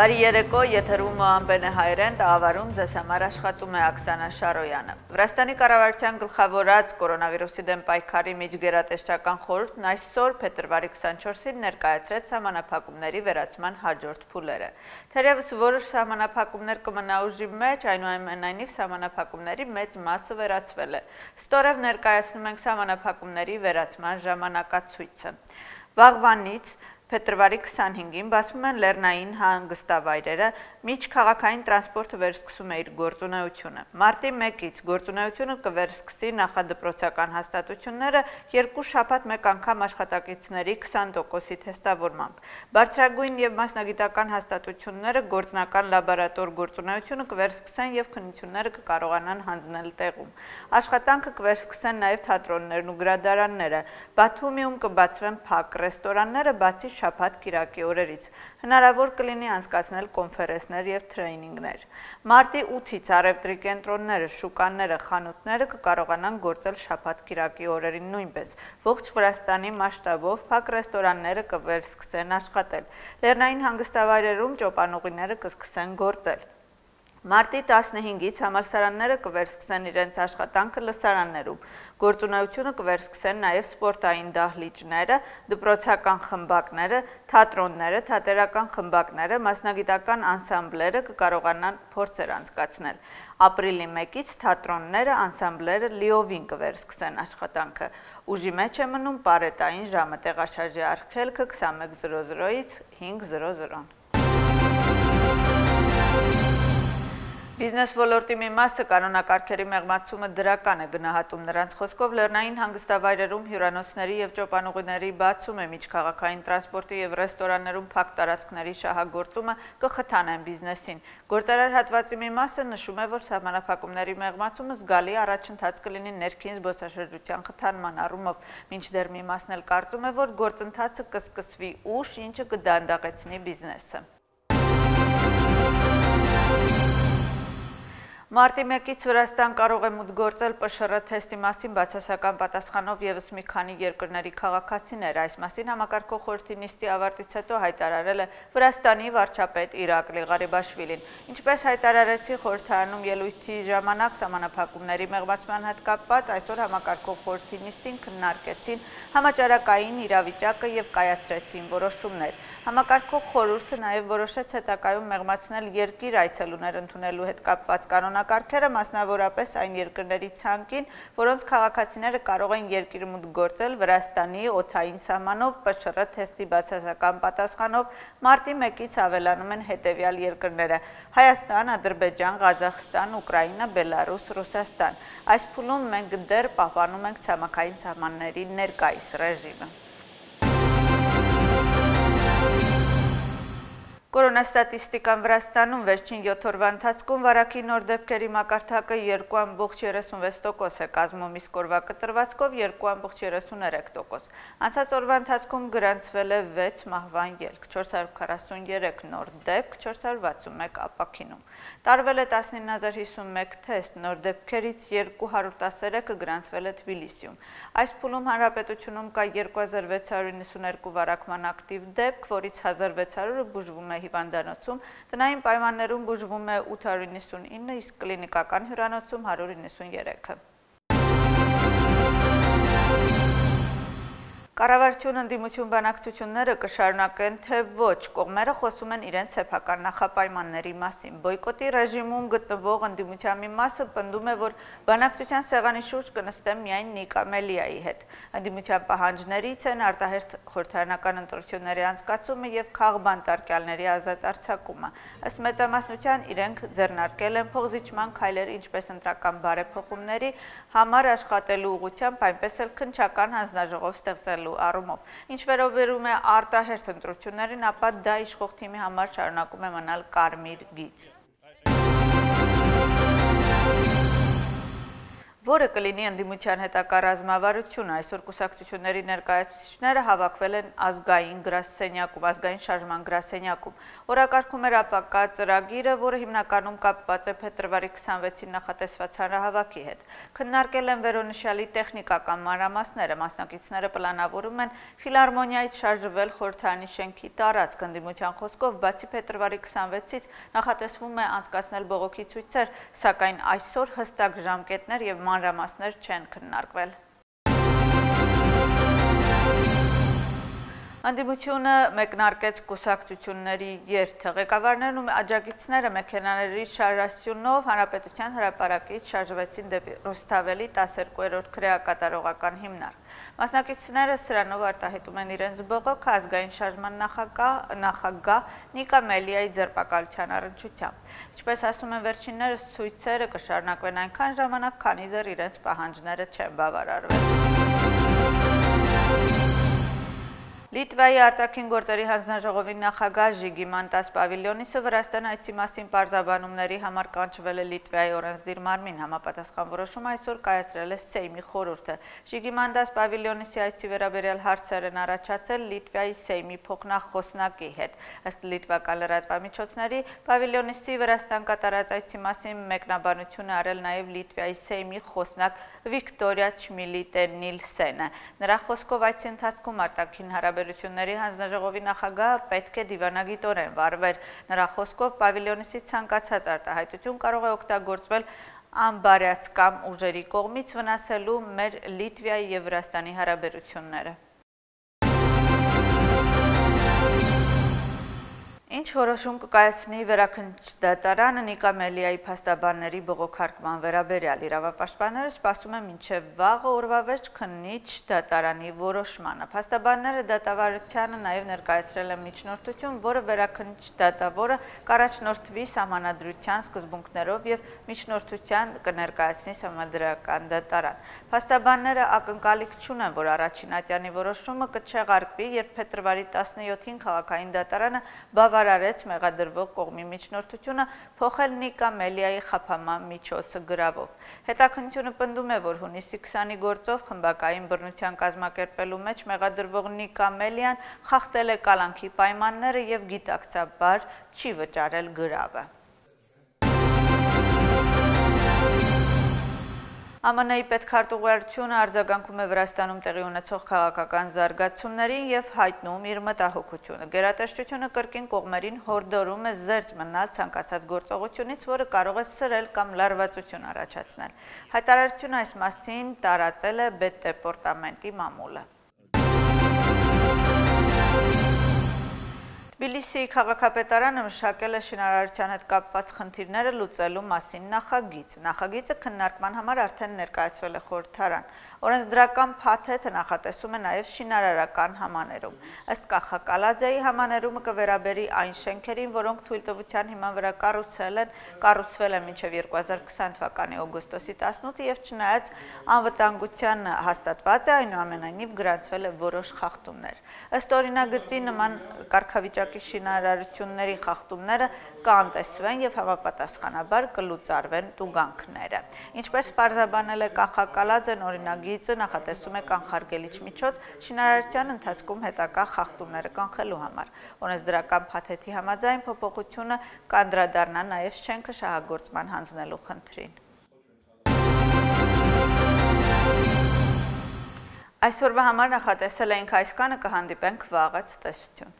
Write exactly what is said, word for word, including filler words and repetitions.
Բարի երեկո, եթերում Մոհամբեն է հայրեն, տաղավարում ձեզ համար աշխատում է Աքսանա Շարոյանը։ Վրաստանի կառավարության գլխավորած կորոնավիրուսի դեմ պայքարի միջգերատեսչական խորհուրդն այսօր փետրվարի քսանչորսին ներկայացրեց սահմանափակումների վերացման հաջորդ փուլերը։ Թերևս որոշ սահմանափակումներ կմնա ուժի մեջ, այնուամենայնիվ սահմանափակումների մեծ մասը վերացվել է։ Ստորև ներկայացնում ենք սահմանափակումների վերացման ժամանակացույցը։ Վաղվանից Փետրվարի քսանհինգին բացվում են լեռնային հանգստավայրերը, միջքաղաքային տրանսպորտը վերսկսում է իր գործունեությունը։ Մարտի մեկից գործունեությունը կվերսկսի նախադպրոցական հաստատությունները երկու շաբաթ մեկ անգամ աշխատակիցների քսան տոկոսի թեստավորմամբ։ Բարձրագույն եւ մասնագիտական հաստատությունները գործնական լաբորատոր գործունեությունը կվերսկսեն եւ քննությունները կկարողանան հանձնել տեղում։ Աշխատանքը կվերսկսեն նաեւ թատրոններն ու գրադարանները։ Բաթումիում կբացվեն փակ ռեստորանները, բացի շաբաթ կիրակի օրերից։ Հնարավոր կլինի անցկացնել կոնֆերենսներ եւ թրեյնինգներ։ Մարտի ութից առևտրի կենտրոնները, շուկաները, խանութները կկարողանան գործել շաբաթ կիրակի օրերին նույնպես։ Ողջ Վրաստանի մասշտաբով փակ ռեստորանները կվերսկսեն աշխատել։ Լեռնային հանգստավայրերում ճոպանուղիները կսկսեն գործել։ Մարտի տասնհինգից համալսարանները կվերսկսեն իրենց աշխատանքը լսարաններում։ Գործունեությունը կվերսկսեն նաև սպորտային դահլիճները, դպրոցական խմբակները, թատրոնները, թատերական խմբակները, մասնագիտական անսամբլերը կկարողանան փորձեր անցկացնել։ Ապրիլի մեկից թատրոնները, անսամբլերը լիովին կվերսկսեն աշխատանքը։ Ուժի մեջ է մնում պարետային ժամը, տեղաշարժի արգելքը քսանմեկ զրո զրոից հինգ զրո զրո։ Բիզնես ոլորտի մի մասը կանոնակարգերի մեղմացումը դրական է, գնահատում նրանց խոսքով լեռնային հանգստավայրերում հյուրանոցների եւ ճոպանուղիների բացումը, միջքաղաքային տրանսպորտի եւ ռեստորաններում փակ տարածքների շահագործումը կխթանեն բիզնեսին։ Գործարար հատվածի մի մասը նշում է, որ սահմանափակումների մեղմացումը զգալի առաջընթաց կլինի ներքին զբոսաշրջության խթանման առումով, մինչդեռ մի մասն էլ կարծում է, որ գործընթացը կսկսվի ուշ, ինչը կդանդաղեցնի բիզնեսը։ Մարտի մեկից Վրաստան կարող է մուտք գործել Պ Շ Ռ թեստի մասին բացասական պատասխանով ևս մի քանի երկրների քաղաքացիներ։ Այս մասին համակարգող խորհրդի նիստի ավարտից հետո հայտարարել է Վրաստանի վարչապետ Իրակլի Ղարիբաշվիլին։ Ինչպես հայտարարեցի խորհրդարանում ելույթի ժամանակ սահմանափակումների մեղմացման հետ կապված, այսօր համակարգող խորհրդի նիստին քննարկեցին համաճարակային իրավիճակը եւ կայացրեցին որոշումներ։ Համակարգող խորհուրդը նաև որոշեց հետագայում մեղմացնել երկիր այցելուներ ընդունելու հետ կապված կանոնակարգերը, մասնավորապես այն երկրների ցանկին, որոնց քաղաքացիները կարող են երկիր մուտք գործել Վրաստանի օդային սահմանով Պ Շ Ռ թեստի բացասական պատասխանով մարտի մեկից ավելանում են հետևյալ երկրները՝ Հայաստան, Ադրբեջան, Ղազախստան, Ուկրաինա, Բելարուս, Ռուսաստան։ Այս փուլում մենք դեռ պահպանում ենք ցամաքային սահմանների ներկայիս ռեժիմը։ Կորոնաստատիստիկան Վրաստանում վերջին յոթ օրվա ընթացքում վարակի նոր դեպքերի մակարդակը երկու ամբողջ երեսունվեց տոկոս է կազմում, իսկ օրվա կտրվածքով երկու ամբողջ երեսուներեք տոկոս։ Անցած օրվա ընթացքում գրանցվել է վեց մահվան ելք, չորս հարյուր քառասուններեք նոր դեպք, չորս հարյուր վաթսունմեկ ապաքինում։ Տարվել է տասնինը հազար հիսունմեկ թեստ, նոր դեպքերից երկու հարյուր տասներեքը գրանցվել է Թբիլիսիում։ Այս փուլում հանրապետությունում կա երկու հազար վեց հարյուր նվեցանուերկու վարակման ակտիվ դեպք, որից հազար վեց հարյուրը բուժվում է հիվանդանոցում, տնային պայմաններում բուժվում է ութ հարյուր նվեցանինը, իսկ կլինիկական հյուրանոցում հարյուր նվեցաներեքը։ Կառավարություն ընդդիմություն բանակցությունները կշարունակեն, թե ոչ, կողմերը խոսում են իրենց սեփական նախապայմանների մասին։ Բոյկոտի ռեժիմում գտնվող ընդդիմության մի մասը պնդում է, որ բանակցության սեղանի շուրջ կնստեն միայն Նիկա Մելիայի հետ։ Ընդդիմության պահանջներից են արտահերթ խորհրդարանական ընտրությունների անցկացումը եւ քաղբանտարկյալների ազատ արձակումը։ Ըստ մեծամասնության իրենք ձեռնարկել են փոխզիջման քայլեր ինչպես ընտրական բարեփոխումների համար աշխատելու ուղղությամբ, այնպես էլ քննչական հանձնաժողով ստեղծելու առումով։ Ինչ վերաբերում է արտահերթ ընտրություններին, ապա դա իշխող թիմի համար շարունակում է մնալ կարմիր գիծ։ որը կլինի ընդդիմության հետագա ռազմավարությունը։ Այսօր կուսակցությունների ներկայացուցիչները հավաքվել են ազգային գրասենյակում, ազգային շարժման գրասենյակում։ Օրակարգում էր ապակա ծրագիրը, որը հիմնականում կապված է փետրվարի քսանվեցին նախատեսված հանրահավաքի հետ։ Քննարկել են վերոնշյալի տեխնիկական մանրամասները, մասնակիցները պլանավորում են ֆիլհարմոնիայից շարժվել խորհրդարանի շենքի տարածք։ Ընդդիմության խոսքով, բացի փետրվարի քսանվեցից նախատեսվում է անցկացնել բողոքի ցույցեր, սակայն այսօր հստակ ժամկետներ եւ մանրամասներ չեն քննարկվել։ Ընդդիմությունը մեկնարկեց կուսակցությունների երթը։ Ղեկավարներն ու աջակիցները մեքենաների շարժասյունով Հանրապետության հրապարակից շարժվեցին դեպի Ռուսթավելի տասներկուերորդ քրեակատարողական հիմնարկ։ Մասնակիցները սրանով արտահայտում են իրենց բողոքը ազգային շարժման նախագահ նախագահ Նիկա Մելիայի ձերբակալության առնչությամբ։ Ինչպես ասում են վերջիններս, ցույցերը կշարունակվեն այնքան ժամանակ, քանի դեռ իրենց պահանջները չեն բավարարվել։ Լիտվայի արտաքին գործերի հանձնաժողովի նախագահ Ժիգիմանտաս Պավիլյոնիսը Վրաստան այցի մասին պարզաբանումների համար կանչվել է Լիտվայի օրենսդիր մարմին։ Համապատասխան որոշում այսօր կայացրել է Սեյմի խորհուրդը։ Ժիգիմանտաս Պավիլյոնիսի այցի վերաբերյալ հարցեր են առաջացել Լիտվայի Սեյմի փոխնախոսնակի հետ։ Ըստ լիտվական լրատվամիջոցների, Պավիլյոնիսի Վրաստան կատարած այցի մասին մեկնաբանություն է արել նաև Լիտվայի Սեյմի խոսնակ Վիկտորիա Չմիլիտե-Նիլսենը։ Նրա խոսքով այցի ընթացքում արտաքին հարաբերությունների հանձնաժողովի նախագահը պետք է դիվանագիտորեն վարվեր։ Նրա խոսքով Պավիլյոնիսի ցանկացած արտահայտություն կարող է օգտագործվել անբարյացկամ ուժերի կողմից վնասելու մեր Լիտվայի եւ Վրաստանի հարաբերությունները։ Ինչ որոշում կկայացնի վերաքննիչ դատարանը Նիկա Մելիայի փաստաբանների բողոքարկման վերաբերյալ։ Իրավապաշտպանները սպասում են մինչև վաղը օրվա վերջ քննիչ դատարանի որոշմանը։ Փաստաբանները դատավարությանը նաև ներկայացրել են միջնորդություն, որը վերաքննիչ դատավորը կառաջնորդվի սահմանադրության սկզբունքներով եւ միջնորդության կներկայացնի Սահմանադրական դատարան։ Փաստաբանները ակնկալիք չունեն, որ առաջին ատյանի որոշումը կչեղարկվի, երբ փետրվարի տասնյոթին քաղաքային դատարանը բավարարեց մեղադրվող կողմի միջնորդությունը փոխել Նիկա Մելիայի խափանման միջոցը գրավով։ Հետաքննությունը պնդում է, որ հունիսի քսանի գործով խմբակային բռնության կազմակերպելու մեջ մեղադրվող Նիկա Մելիան խախտել է կալանքի պայմանները եւ գիտակցաբար չի վճարել գրավը։ ԱՄՆ-ի պետքարտուղարությունը արձագանքում է Վրաստանում տեղի ունեցող քաղաքական զարգացումներին եւ հայտնում իր մտահոգությունը։ Գերատեսչությունը կրկին կողմերին հորդորում է զերծ մնալ ցանկացած գործողությունից, որը կարող է սրել կամ լարվածություն առաջացնել։ Հայտարարությունը այս մասին տարածել է Պետդեպարտամենտի մամուլը։ Թբիլիսիի քաղաքապետարանը մշակել է շինարարության հետ կապված խնդիրները լուծելու մասին նախագիծ։ Նախագիծը քննարկման համար արդեն ներկայացվել է խորհրդարան։ Օրենսդրական փաթեթը նախատեսում է նաև շինարարական համաներում։ Ըստ Կախակալաձեի համաներումը կվերաբերի այն շենքերին, որոնք թույլտվության հիման վրա կառուցել են, կառուցվել են մինչև երկու հազար քսան թվականի օգոստոսի տասնութը եւ չնայած անվտանգության հաստատված է, այնուամենայնիվ գրանցվել է որոշ խախտումներ։ Ըստ օրինագծի նման կարգավիճակի շինարարությունների խախտումները կանտեսվեն եւ համապատասխանաբար կլուծարվեն տուգանքները։ Ինչպես պարզաբանել է Կախակալաձեն, օրինագիծը նախատեսում է կանխարգելիչ միջոց շինարարության ընթացքում հետագա խախտումները կանխելու համար։ Օրենսդրական փաթեթի համաձայն փոփոխությունը կանդրադառնա նաեւ շենքը շահագործման հանձնելու խնդրին։ Այսօրվա համար նախատեսել էինք այսքանը, կհանդիպենք վաղը, ցտեսություն։